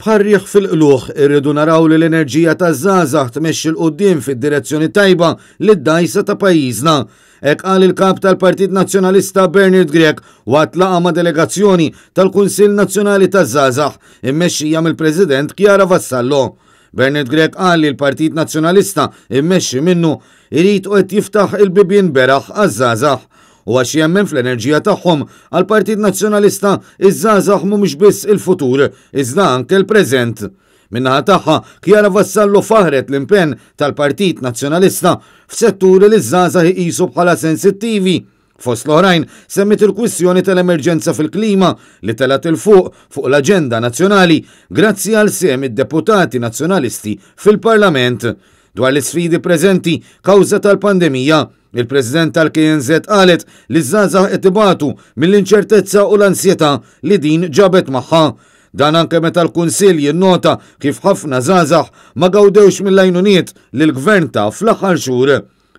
Bħar-riħ fil-qlugħ, irridu naraw li l-enerġija taż-żgħażagħ tmexxi 'l quddiem fid-direzzjoni tajba lid-dgħajsa ta' pajjiżna. Hekk qal il-Kap tal-Partit Nazzjonalista Bernard Grech waqt laqgħa ma' delegazzjoni tal-Kunsill Nazzjonali taż-Żgħażagħ immexxija mill-President Chiara Vassallo. Bernard Grech qal li l-Partit Nazzjonalista immexxi minnu irid u qed jiftaħ il-bibien beraħ għaż-żgħażagħ. U għax jemmen fl-enerġija tagħhom, għall-Partit Nazzjonalista iż-żgħażagħ mhumiex biss il-futur, iżda anke l-preżent. Min-naħa tagħha, Chiara Vassallo faħħret l-impenn tal-Partit Nazzjonalista f'setturi li ż-żgħażagħ iqisu bħala sensittivi. Fost l-oħrajn, semmiet il-kwistjoni tal-emerġenza fil-klima li telgħet 'il fuq fuq l-aġenda nazzjonali grazzi għal sehem id-deputati Nazzjonalisti fil-Parlament. Dwar l-isfidi preżenti kawża tal-pandemija, il-President tal-KNŻ qalet li ż-żgħażagħ qed ibatu mill-inċertezza u l-ansjetà li din ġabet magħha. Dan anke meta l-Kunsill jinnota kif ħafna żgħażagħ ma gawdewx mill-għajnuniet li l-Gvern ta fl-aħħar xhur.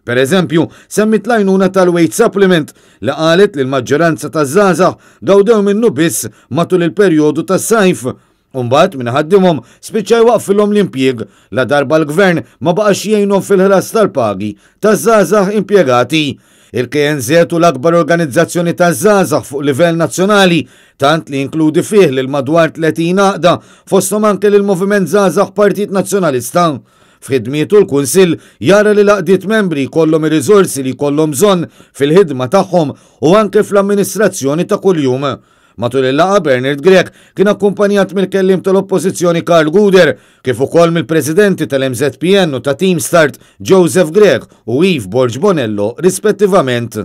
Per eżempju, semmiet l-għajnuna tal-wage supplement li qalet li l-maġġoranza taż-żgħażagħ gawdew minnu biss matul il-perjodu tas-sajf. U mbagħad min iħaddimhom spiċċa jwaqqfilhom l-impjieg ladarba l-Gvern ma baqax jgħinhom fil-ħlas tal-pagi taż-żgħażagħ impjegati. Il-KNŻ hu l-akbar organizzazzjoni taż-żgħażagħ fuq livell nazzjonali, tant li jinkludi fih lil madwar 30 għaqda, fosthom anke lill-Moviment Żgħażagħ Partit Nazzjonalista. F'ħidmietu l-Kunsill jara li l-għaqdiet membri jkollhom ir-riżorsi li jkollhom bżonn fil-ħidma tagħhom u anke fl-amministrazzjoni ta' kuljum. Matul il-laqgħa Bernard Grech kien akkumpanjat mill-kelliem tal-Oppożizzjoni Karl Gouder kif ukoll mill-Presidenti tal-MŻPN u ta' Team Start Joseph Grech u Yves Borg Bonello rispettivament.